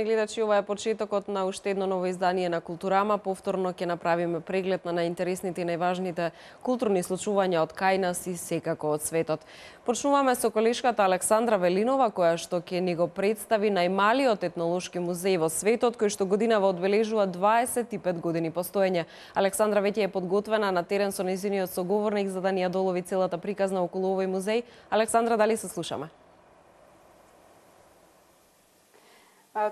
гледачи, ова е почетокот на уште едно ново издание на Културама. Повторно ќе направиме преглед на најинтересните и најважните културни случувања од кај нас и секако од светот. Почнуваме со колешката Александра Велинова, која што ќе ни го представи најмалиот етнолошки музеј во светот, кој што годинава одбележува 25 години постоење. Александра веќе е подготвена на терен со нејзиниот соговорник за да ни ја долови целата приказна околу овој музеј. Александра, дали се слушаме?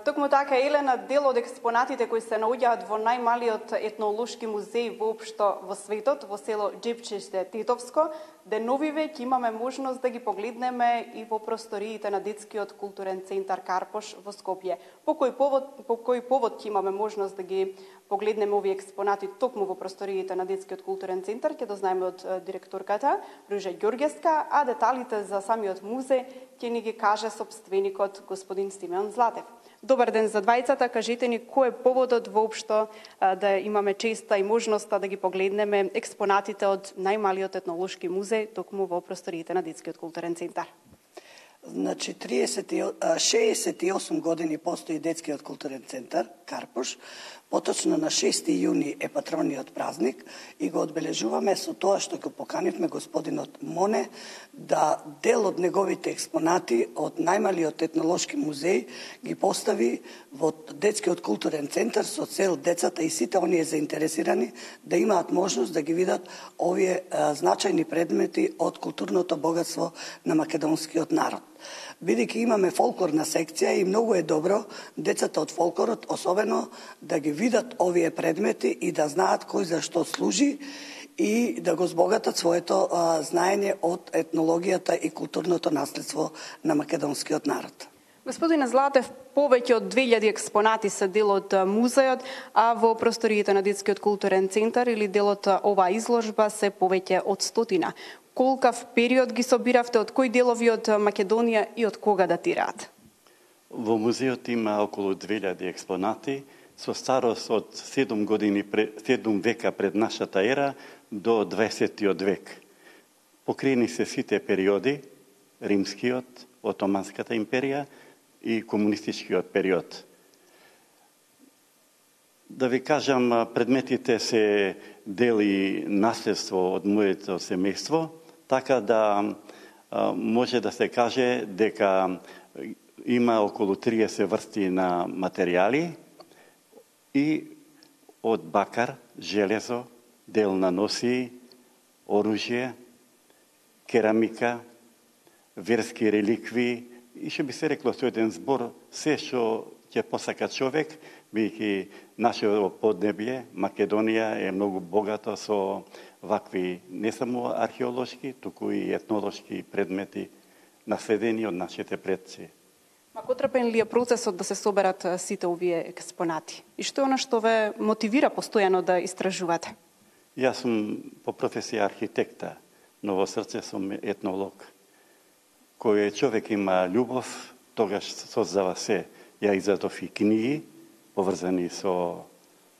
Токму така, Елена, дел од експонатите кои се наоѓаат во најмалиот етнолошки музеј воопшто во светот, во село Џепчиште, Тетовско, деновиве ќе имаме можност да ги погледнеме и во просториите на детскиот културен центар Карпош во Скопје. По кој повод ќе имаме можност да ги погледнеме овие експонати токму во просториите на детскиот културен центар, ќе дознаеме од директорката Ружа Ѓорѓевска, а деталите за самиот музеј ќе ни ги каже сопственикот господин Стимеон Златев. Добар ден за двајцата, кажете ни кој е поводот воопшто да имаме честа и можноста да ги погледнеме експонатите од најмалиот етнолошки музеј токму во просториите на детскиот културен центар. Значи, 68 години постои детскиот културен центар Карпош. Поточно на 6. јуни е патрониот празник и го одбележуваме со тоа што го поканивме господинот Моне да дел од неговите експонати од најмалиот етнолошки музеј ги постави во детскиот културен центар со цел децата и сите оние заинтересирани да имаат можност да ги видат овие значајни предмети од културното богатство на македонскиот народ. Бидејќи имаме фолклорна секција и многу е добро децата од фолклорот особено да ги видат овие предмети и да знаат кој за што служи и да го збогатат своето знаење од етнологијата и културното наследство на македонскиот народ. Господине Златев, повеќе од 2000 експонати се дел од музејот, а во просториите на детскиот културен центар или делот оваа изложба се повеќе од 100. Колкав период ги собиравте, од кои делови од Македонија и од кога датираат? Во музеот има околу 2000 експонати со старост од 7 века пред нашата ера до 20 век. Покриени се сите периоди, римскиот, Отоманската империја и комунистичкиот период. Да ви кажам, предметите се дел и наследство од моето семејство, така да може да се каже дека има околу 30 врсти на материјали и од бакар, железо, дел на носии, оружје, керамика, верски реликви и што би се рекло со еден збор, се што ќе посака човек, бидејќи нашето поднебје, Македонија е многу богато со вакви не само археолошки, туку и етнолошки предмети наследени од нашите предци. Макотрпен ли е процесот да се соберат сите овие експонати? И што е она што ве мотивира постојано да истражувате? Јас сум по професија архитекта, но во срце сум етнолог. Кој човек има љубов, тогаш создава се. Ја изадов и книги поврзани со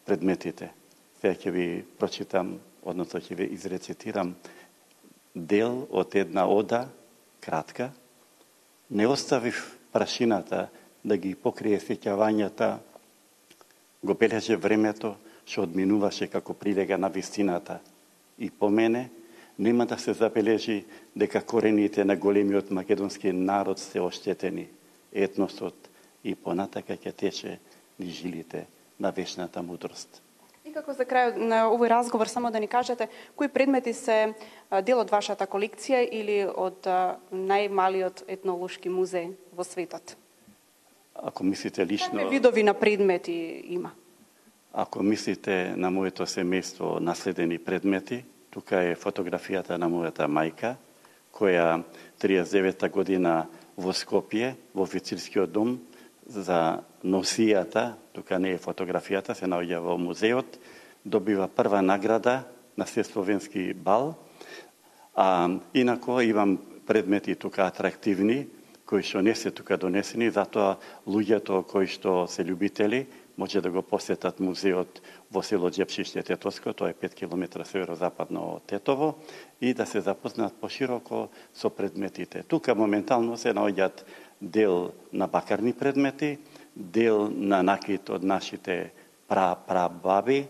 предметите. Сега ќе ви прочитам, односно ќе ви изрецитирам дел од една ода, кратка. Не оставив прашината да ги покрие сеќавањата, го бележе времето што одминуваше како прилега на вистината. И по мене нема да се забележи дека корените на големиот македонски народ се оштетени. Етносот и понатака ќе тече низ жилите на вечната мудрост. И како за крај на овој разговор само да ни кажете кои предмети се дел од вашата колекција или од најмалиот етнолошки музеј во светот? Ако мислите лично... Какви видови на предмети има? Ако мислите на моето семејство наследени предмети, тука е фотографијата на мојата мајка, која 39 година во Скопје, во официрскиот дом, за носијата, тука не е фотографијата, се наоѓа во музеот, добива прва награда на Сесловенски бал, а инако имам предмети тука атрактивни, кои што не се тука донесени, затоа луѓето кои што се љубители може да го посетат музеот во село Џепчиште, Тетовско, тоа е 5 км северозападно од Тетово, и да се запознаат пошироко со предметите. Тука моментално се наоѓаат дел на бакарни предмети, дел на накид од нашите прабаби,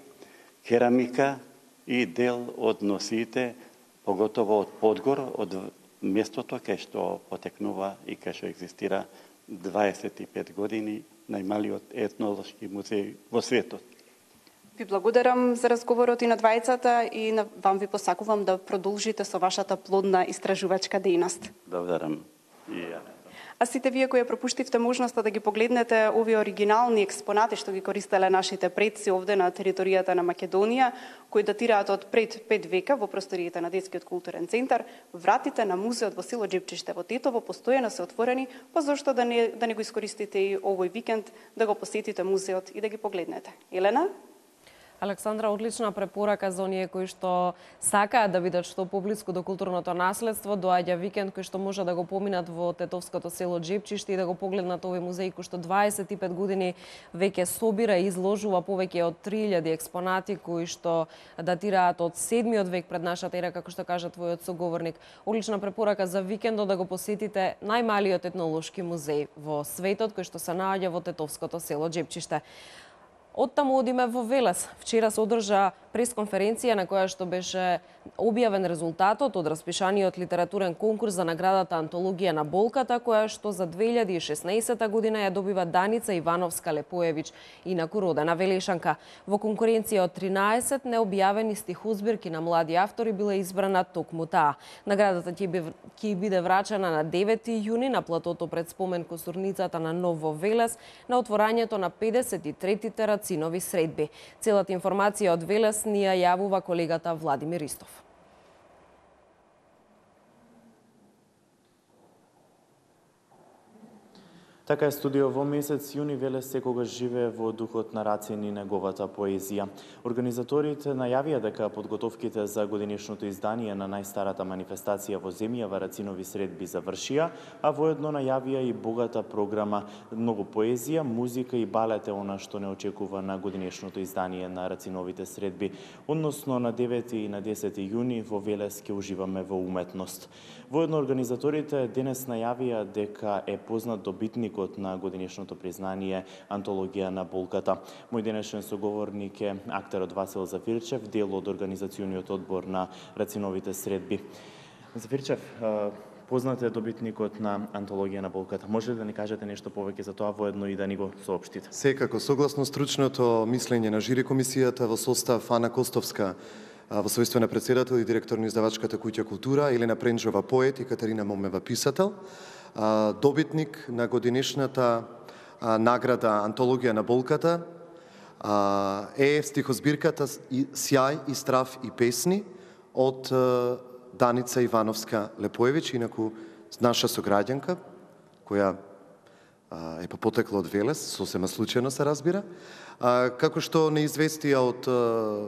керамика и дел од носите, поготово од Подгор, од местото кај што потекнува и кај што екзистира 25 години најмалиот етнолошки музеј во светот. Ви благодарам за разговорот и на двајцата и вам ви посакувам да продолжите со вашата плодна истражувачка дејност. Благодарам и ја. А сите вие кои ја пропуштивте можноста да ги погледнете овие оригинални експонати што ги користеле нашите предци овде на територијата на Македонија, кои датираат од пред 5 века во просториите на Детскиот културен центар, вратите на музеот во село Џепчиште во Тетово постојано се отворени, па зошто да не го искористите и овој викенд да го посетите музеот и да ги погледнете. Елена? Александра, одлична препорака за оние кои што сакаат да бидат што поблиску до културното наследство. Доаѓа викенд кој што може да го поминат во тетовското село Џепчиште и да го погледнат овој музеј кој што 25 години веќе собира и изложува повеќе од 3000 експонати кои што датираат од 7 век пред нашата ера, како што кажа твојот соговорник. Одлична препорака за викендот да го посетите најмалиот етнолошки музеј во светот кој што се наоѓа во тетовското село Џепчиште. Оттаму одиме во Велес. Вчера се одржа пресконференција на која што беше објавен резултатот од распишаниот литературен конкурс за наградата Антологија на болката, која што за 2016 година ја добива Даница Ивановска-Лепоевич, инаку родена Велешанка. Во конкуренција од 13 необјавени стихозбирки на млади автори била избрана токму таа. Наградата ќе биде врачена на 9 јуни на платото пред спомен косурницата на Ново Велес на отворањето на 53-тите рацинови средби. Целата информација од Велес ни ја јавува колегата Владимир Ристов. Така е, студио, во месец јуни Велес секогаш живее во духот на Рацин и неговата поезија. Организаторите најавија дека подготовките за годинешното издание на најстарата манифестација во земјава Рацинови средби завршија, а воедно најавија и богата програма, многу поезија, музика и балет е она што не очекува на годинешното издание на Рациновите средби. Односно на 9 и на 10 јуни во Велес ќе уживаме во уметност. Воедно организаторите денес најавија дека е познат добитник на годинешното признание Антологија на болката. Мој денешен соговорник е актерот Васил Зафирчев, дел од организациониот одбор на Рациновите средби. Зафирчев, познат е добитникот на Антологија на болката. Може ли да ни кажете нешто повеќе за тоа, воедно и да ни го соопштите? Секако, согласно стручното мислење на жири комисијата во состав Ана Костовска во својство на председател и директор на издавачката куќа Култура, Елена Пренџова поет и Катерина Момева писател, добитник на годинешната награда Антологија на болката е стихозбирката Сјај и страв и песни од Даница Ивановска-Лепоевич, инаку наша сограѓанка, која е потекла од Велес, сосема случајно се разбира. Како што не известија од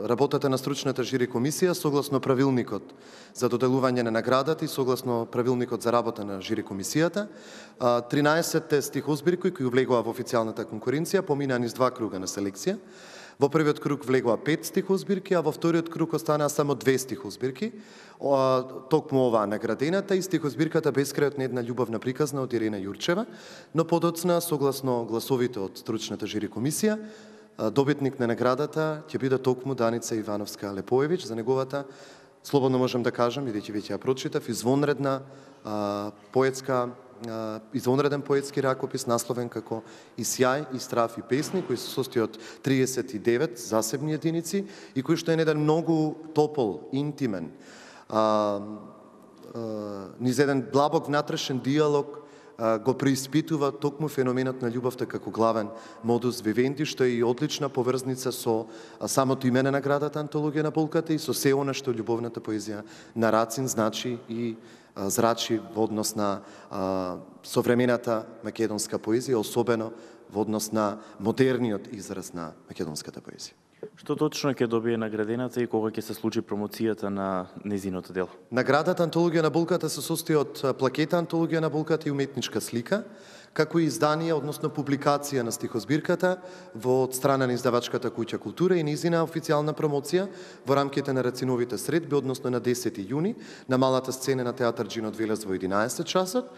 работата на стручната жири комисија, согласно правилникот за доделување на наградата и согласно правилникот за работа на жири комисијата, 13 стихозбирки кои влегоа во официјалната конкуренција поминаа низ 2 круга на селекција. Во првиот круг влегоа 5 стихозбирки, а во вториот круг останаа само 2 стихозбирки. Токму оваа наградената и стихозбирката Бескрајот на една љубовна приказна од Ирена Јурчева, но подоцна, согласно гласовите од стручната жири комисија, добитник на наградата ќе биде токму Даница Ивановска-Лепоевич за неговата, слободно можем да кажам, бидејќи веќе ја прочитав, извонреден поетски ракопис насловен како И сјај, и страв и песни, кој се состои од 39 засебни единици и кој што е еден многу топол, интимен, низ еден длабок внатрешен диалог го преиспитува токму феноменот на љубовта како главен модус вивенди, што е и одлична поврзница со самото име на наградата Антологија на болката и со се она што љубовната поезија на Рацин значи и зрачи во однос на современата македонска поезија, особено во однос на модерниот израз на македонската поезија. Што точно ќе добие наградената и кога ќе се случи промоцијата на незиното дело? Наградата Антологија на болката се состои од плакета Антологија на болката и уметничка слика, како и издание, односно публикација на стихозбирката од страна на издавачката куќа Култура и низина официјална промоција во рамките на Рациновите средби, односно на 10 јуни, на малата сцена на Театар Джинот Велес во 11 часот,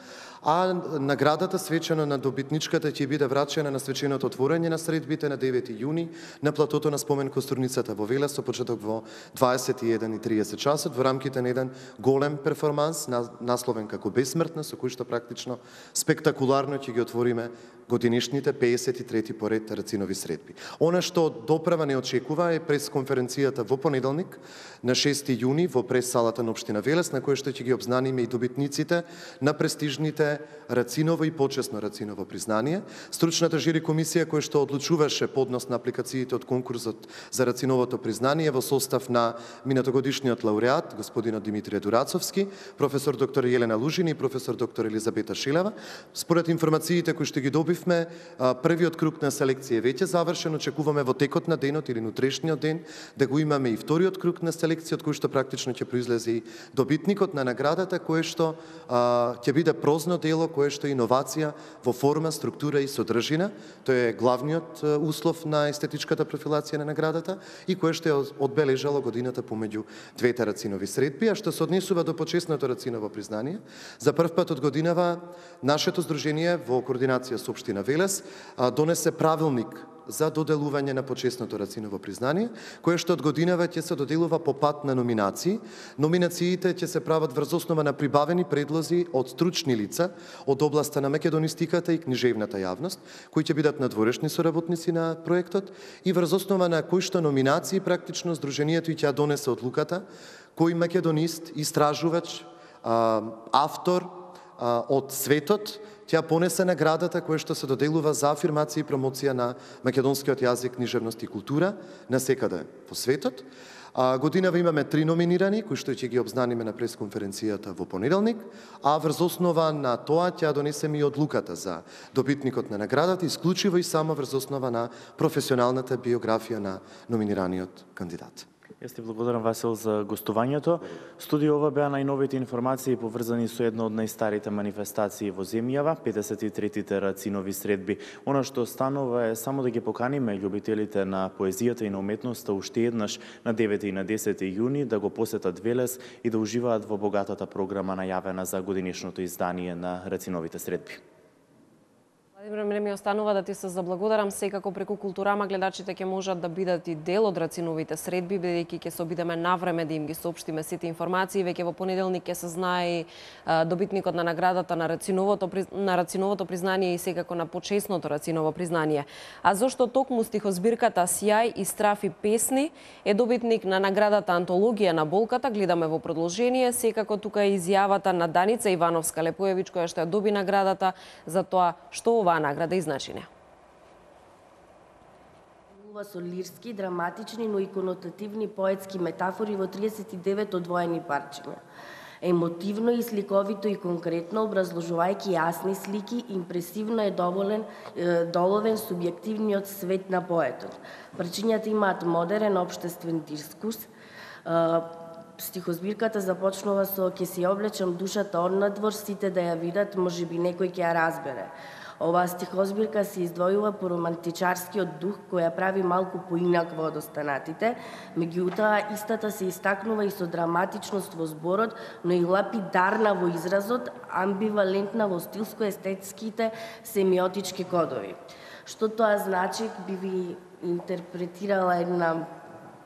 а наградата свечено на добитничката ќе биде врачена на свеченото отворање на средбите на 9 јуни на платото на спомен костурницата во Велес со почеток во 21:30 часот во рамките на еден голем перформанс насловен како Бесмртна, со кој што практично спектакуларно ќе ги отвориме годинишните 53 поред Рацинови средби. Она што доправа не очекува е пресконференцијата во понеделник на 6 јуни во прес-салата на општина Велес, на која што ќе ги обзнаниме и добитниците на престижните Рациново и почесно Рациново признание. Стручната жири комисија која што одлучуваше поднос на апликациите од конкурсот за Рациновото признание во состав на минатогодишниот лауреат господинот Димитрije Дурацовски, професор доктор Јелена Лужини и професор доктор Елизабета Шилева. Според информациите кои што ги добивме, првиот круг на селекција е веќе завршен, очекуваме во текот на денот или утрешниот ден да го имаме и вториот круг на селекција, од кој што практично ќе произлезе и добитникот на наградата, кое што ќе биде прозно дело, кое што е иновација во форма, структура и содржина. Тој е главниот услов на естетичката профилација на наградата и кое што е одбележало годината помеѓу двете Рацинови средби, а што се однесува до почесното Рациново признание. За прв пат од годинава нашето здружение во координација со општина Велес донесе правилник за доделување на почесното Рациново признание, кое што од годинава ќе се доделува по пат на номинации. Номинациите ќе се прават врз основа на прибавени предлози од стручни лица од областа на македонистиката и книжевната јавност, кои ќе бидат надворешни соработници на проектот и врз основа на кои што номинации практично здружението ќе ја донесе одлуката кој македонист, истражувач, автор од светот ќе понесе наградата која што се доделува за афирмација и промоција на македонскиот јазик, книжевност и култура на секаде во светот. Годинава имаме 3 номинирани, кои што ќе ги обзнаниме на пресконференцијата во понеделник, а врз основа на тоа ќе донесеме и одлуката за добитникот на наградата, исклучиво и само врз основа на професионалната биографија на номинираниот кандидат. Јас ти благодарам, Васил, за гостувањето. Студио ова беа најновите информации поврзани со една од најстарите манифестации во земјава, 53-тите Рацинови средби. Она што останува е само да ги поканиме љубителите на поезијата и на уметноста уште еднаш на 9 и на 10 јуни да го посетат Велес и да уживаат во богатата програма најавена за годинишното издание на Рациновите средби. Владимир, мене ми останува да ти се заблагодарам. Секако преку Културама гледачите ќе можат да бидат и дел од Рациновите средби, бидејќи ќе се обидеме навреме да им ги соопштиме сите информации. Веќе во понеделник ќе се знае и добитникот на наградата на Рациновото признание и секако на почесното Рациново признание. А зошто токму стихозбирката Сјај и страфи песни е добитник на наградата Антологија на болката, гледаме во продолжение. Секако тука е изјавата на Даница Ивановска Лепојевич, која што ја доби наградата за тоа што оваа награда и значење. Со лирски, драматични, но и конотативни поетски метафори во 39 одвоени парчиња. Емотивно и сликовито и конкретно, образложувајќи јасни слики, импресивно е доловен субјективниот свет на поетот. Парчињата имаат модерен општествен дискурс. Стихозбирката започнува со "Ке си облечам душата однадвор, сите да ја видат, можеби некој ќе ја разбере". Оваа стихозбирка се издвојува по романтичарскиот дух, која прави малку поинаква од останатите, меѓутоа истата се истакнува и со драматичност во зборот, но и лапидарна во изразот, амбивалентна во стилско-естетските семиотички кодови. Што тоа значи, би ви интерпретирала една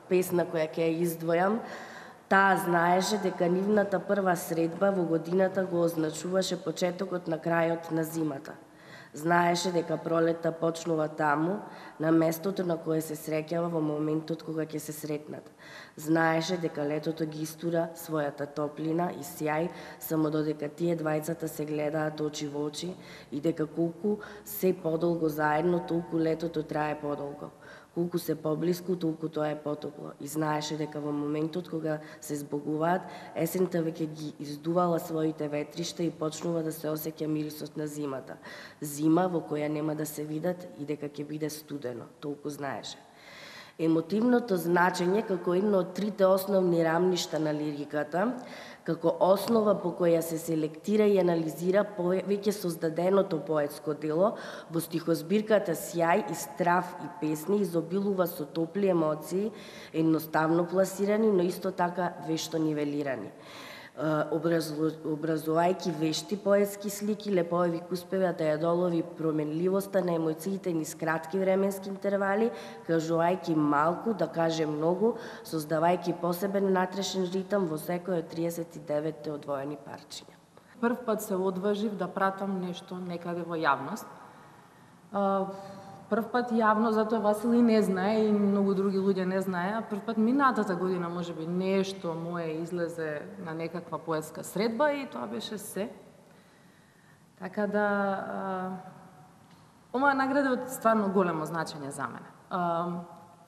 песна која ќе ја издвојам. Таа знаеше дека нивната прва средба во годината го означуваше почетокот на крајот на зимата. Знаеше дека пролетта почнува таму, на местото на кое се среќава во моментот кога ќе се сретнат. Знаеше дека летото ги истура својата топлина и сјај, само додека тие двајцата се гледаат очи во очи и дека колку се подолго заедно, толку летото трае подолго. Колку се поблиску, толку тоа е потопло. И знаеше дека во моментот кога се збогуваат, есента веќе ги издувала своите ветришта и почнува да се осеќа мирисот на зимата. Зима во која нема да се видат и дека ќе биде студено. Толку знаеше. Емотивното значење како едно од трите основни рамништа на лириката, како основа по која се селектира и анализира повеќе создаденото поетско дело, во стихозбирката Сјај и страв и песни изобилува со топли емоции, едноставно пласирани, но исто така вешто нивелирани. Образувајќи вешти поетски слики, Леповивик успева да ја долови променливоста на емоциите низ кратки временски интервали, кажувајќи малку, да каже многу, создавајќи посебен натрешен ритам во секој од 39 одвоени парчиња. Прв пат се одважив да пратам нешто некаде во јавност. Прв пат јавно, затоа Васил и не знае и многу други луѓе не знае, а прв пат минатата година можеби нешто мое излезе на некаква поетска средба и тоа беше се. Така да оваа награда е стварно големо значење за мене.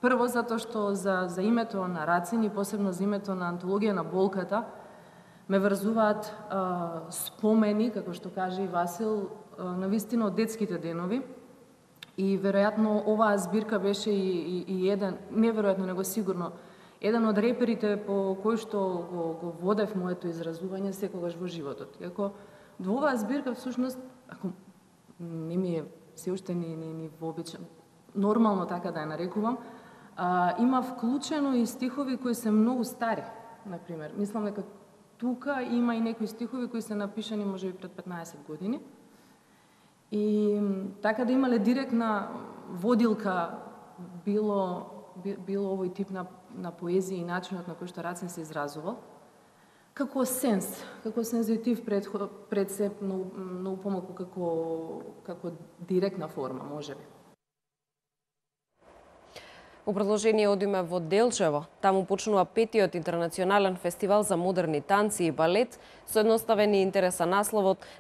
Прво затоа што за името на Рацин и посебно за името на антологија на болката ме врзуваат спомени, како што каже и Васил, на вистина од детските денови. И веројатно оваа збирка беше и еден, не веројатно, него сигурно, еден од реперите по кој што го водев моето изразување секогаш во животот. Иако во оваа збирка всушност, ако не ми е се уште ни вообичен, нормално така да ја нарекувам, има вклучено и стихови кои се многу стари, например. Мислам дека тука има и некои стихови кои се напишани можеби пред 15 години. И така да имале директна водилка било овој тип на поезија и начинот на кој што Рацин се изразувал, како сензитив пред се многу помалку како директна форма, можеби. Во продолжение одиме во Делчево. Таму почнува 5-тиот интернационален фестивал за модерни танци и балет со едноставен и интересен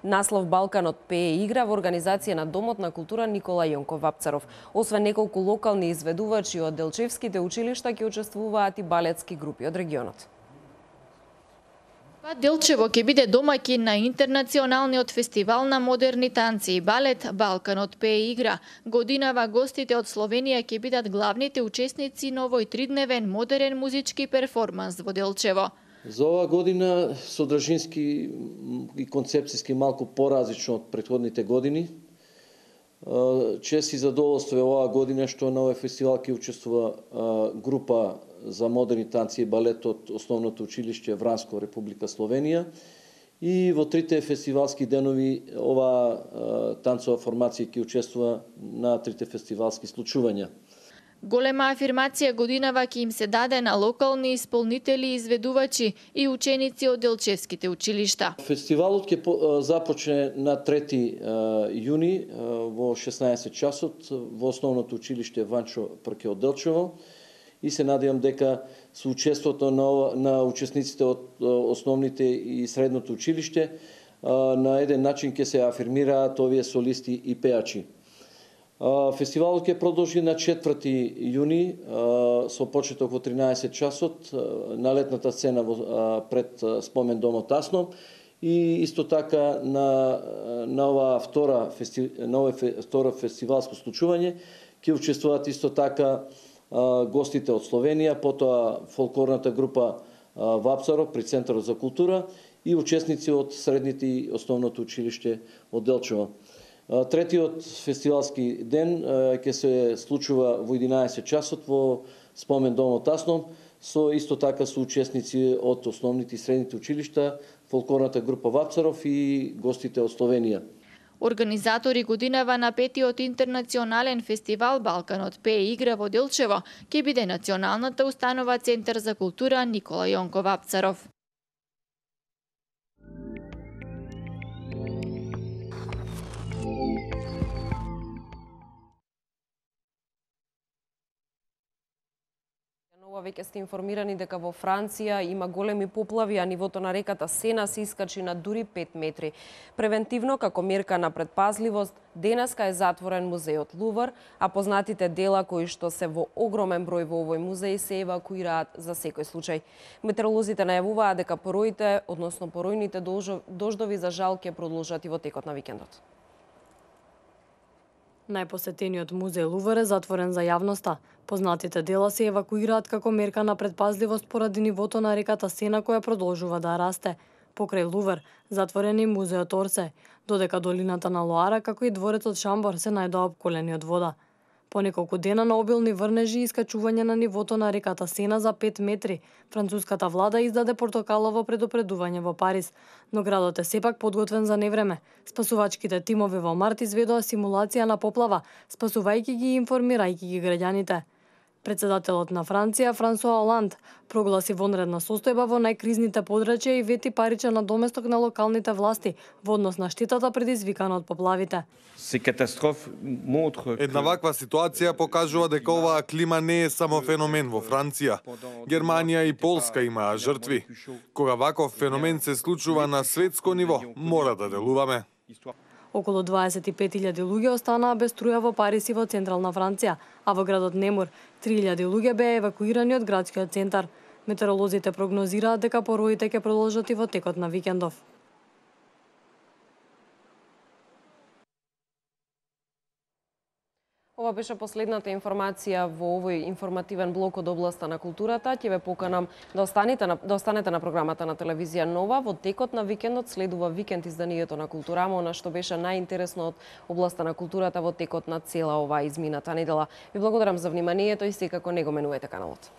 наслов Балканот пее и игра во организација на Домот на култура Никола Јонков Вапцаров. Освен неколку локални изведувачи од делчевските училишта ќе учествуваат и балетски групи од регионот. Делчево ќе биде домаќин на интернационалниот фестивал на модерни танци и балет Балканот пее и игра. Годинава гостите од Словенија ќе бидат главните учесници на овој 3-дневен модерен музички перформанс во Делчево. За оваа година содржински и концепцијски малку поразлично од претходните години. Чест и задоволство е оваа година што на овој фестивал ќе учествува група за модерни танци и балет од Основното училиште Вранско, Република Словенија. И во трите фестивалски денови оваа танцова формација ќе учествува на трите фестивалски случувања. Голема афирмација годинава ќе им се даде на локални исполнители, изведувачи и ученици од делчевските училишта. Фестивалот ќе започне на 3 јуни во 16 часот во Основното училиште Ванчо Прке од Делчево. И се надевам дека со учеството на учесниците од основните и средното училиште на еден начин ќе се афирмираат овие солисти и пеачи. Фестивалот ќе продолжи на 4 јуни со почеток во 13 часот на летната сцена пред Спомен домот Тасно и исто така на ова втора фестивалско случување ќе учествуваат исто така гостите од Словенија, потоа фолклорната група Вапцаров при Центарот за култура и учесници од средните и Основното училиште од Делчево. Третиот фестивалски ден ќе се случува во 11 часот во Спомен домот Тасно со исто така со учесници од основните и средните училишта, фолклорната група Вапцаров и гостите од Словенија. Организатори годинава на 5-тиот интернационален фестивал Балканот пее и игра во Делчево ќе биде Националната установа Центар за култура Никола Јонков Вапцаров. Веќе сте информирани дека во Франција има големи поплави, а нивото на реката Сена се искачи на дури 5 метри. Превентивно, како мерка на предпазливост, денеска е затворен музејот Лувр, а познатите дела кои што се во огромен број во овој музеј се евакуираат за секој случај. Метеоролозите најавуваат дека пороите, односно поројните дождови за жал ќе продолжат и во текот на викендот. Најпосетениот музеј Лувр е затворен за јавноста. Познатите дела се евакуираат како мерка на предпазливост поради нивото на реката Сена која продолжува да расте. Покрај Лувр затворен и музеот Орсе, додека долината на Лоара како и дворецот Шамбор се најдоа опколени од вода. По неколку дена на обилни врнежи и искачување на нивото на реката Сена за 5 метри, француската влада издаде портокалово предупредување во Париз, но градот е сепак подготвен за невреме. Спасувачките тимови во март изведоа симулација на поплава, спасувајќи ги и информирајќи ги граѓаните. Председателот на Франција, Франсуа Оланд, прогласи вонредна состојба во најкризните подрачја и вети паричен надоместок на локалните власти во однос на штетата предизвикана од поплавите. Една ваква ситуација покажува дека оваа клима не е само феномен во Франција. Германија и Полска имаа жртви. Кога ваков феномен се случува на светско ниво, мора да делуваме. Околу 25.000 луѓе останаа без струја во Париз и во централна Франција, а во градот Немур 3.000 луѓе беа евакуирани од градскиот центар. Метеоролозите прогнозираат дека пороите ќе продолжат и во текот на викендов. Ова беше последната информација во овој информативен блок од областа на културата. Ќе ве поканам да останете на програмата на телевизија Нова. Во текот на викендот следува викенд изданието на Културама, она што беше најинтересно од областа на културата во текот на цела оваа измината недела. Ви благодарам за вниманието и секако не го менувајте каналот.